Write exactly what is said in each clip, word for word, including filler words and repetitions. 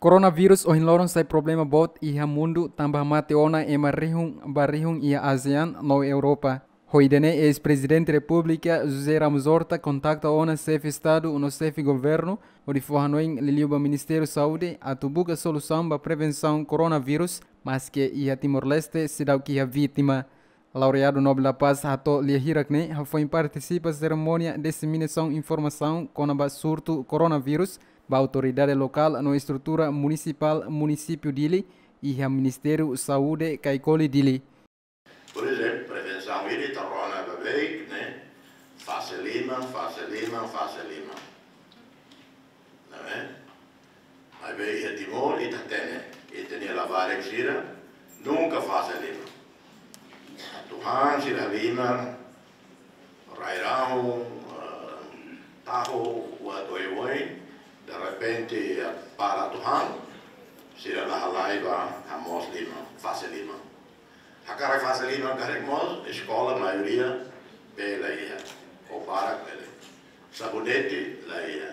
Coronavírus ohin loron sai problema boot iha mundu, tanba hamate ona ema rihun ba rihun iha ASEAN no Europa. Ho ida-ne'e, eis-Prezidente Repúblika José Ramos Horta kontakta ona xefe Estadu no xefe Governu, hodi fó hanoin liuliu ba Ministériu Saúde atu buka solusaun ba prevensaun coronavírus, maske iha Timor-Leste seidauk iha vítima. Laureadu Nobel da Paz hato'o lia hirak ne'e hafoin partisipa serimónia diseminasaun informasaun kona-ba surtu coronavírus ba autoridade lokál no estrutura munisipál munisípiu Dili, iha Ministériu Saúde Caicoli, Dili. Por ezemplu, prevensaun ida ita rona ba beik ne'e, fase liman, fase liman, fase liman. Não é? Maibé iha Timor ita hatene, ita-nia labarik sira nunka fase liman. Atu han sira liman, rai-rahun, eh, tahu, buat oioin, derrepente, eh, para atu han, sira la halai ba hamoos liman, fase liman. Hakarak fase liman karik mós, eskola maioria bele iha, ou barak bele. Sabonete la iha.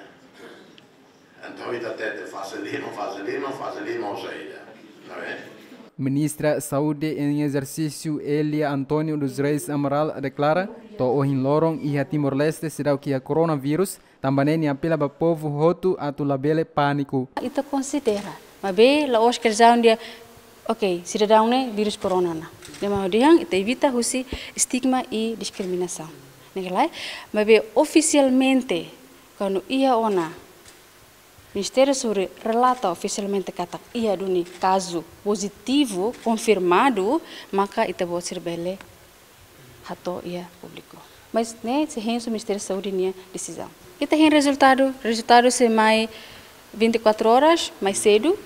Entaun ita hatete fase liman, fase liman, fase liman ou saida, não é? Ministra Saúde em exercício, Elia António dos Reis Amaral, deklara, to'o ohin loron iha Timor-Leste seidauk iha coronavírus, tanba ne'e nia apela ba povu hotu atu labele pániku. Ita konsidera, maibé la'ós kestaun ida, ok, sidadaun ne'e vírus corona ona. Ne'e mak hodi han ita evita husi estigma i diskriminasaun. Ne'e ka lae, maibé ofisialmente, kuandu iha ona Ministériu Saúde relata ofisialmente katak iha duni kazu pozitivu konfirmadu, maka ita-boot sira bele hato'o iha públiku. Mas ne'e sei hein husi Ministériu Saúde nia desizaun. Ita hein rezultadu, rezultadu sei mai vinte e quatro horas mais cedo,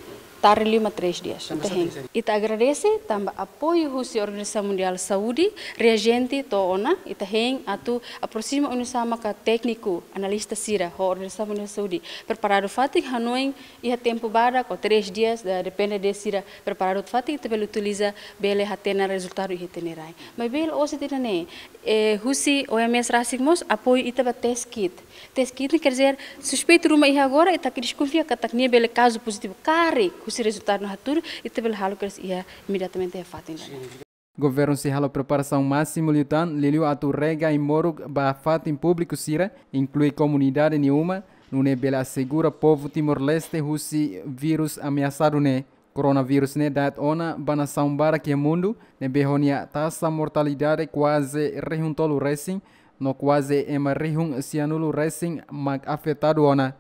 tarde lima três dias. Ita hein. Ita agradese tanba apoiu husi Organizasaun Mundiál Saúde, reajente to'o ona, ita hein atu aproxima oinsá maka tékniku, analista sira, ho Organizasaun Mundiál Saúde preparadu fatin, hanoin iha tempu badak ou três dias, da, depende de sira preparadu fatin, ita bele utiliza, bele hatene rezultadu iha ita-nia rai. Maibé la'ós de'it ida-ne'e, eh, husi OMS rasik mós apoiu ita ba test kit. Test kit ne'e quer dizer, suspeitu ruma iha agora, ita ke deskonfia katak nia bele kazu pozitivu karik, husi rezultadu ne'e hatudu, ita bele halo kedas iha imediatamente iha fatin ida-ne'e. Governu sei halo preparasaun másimu liután, liuliu atu rega ai-moruk ba fatin públiku sira, inklui komunidade nia uma, nune'e bele asegura povu Timor-Leste husi vírus ameasadu ne'e. Coronavírus ne'e da'et ona ba nasaun barak iha mundu, ne'ebé ho nia taxa mortalidade kuaze rihun tolu resin, no kuaze ema rihun sianulu resin mak afetadu ona.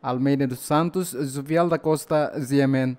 Almeida dos Santos, Juvial da Costa, G M N.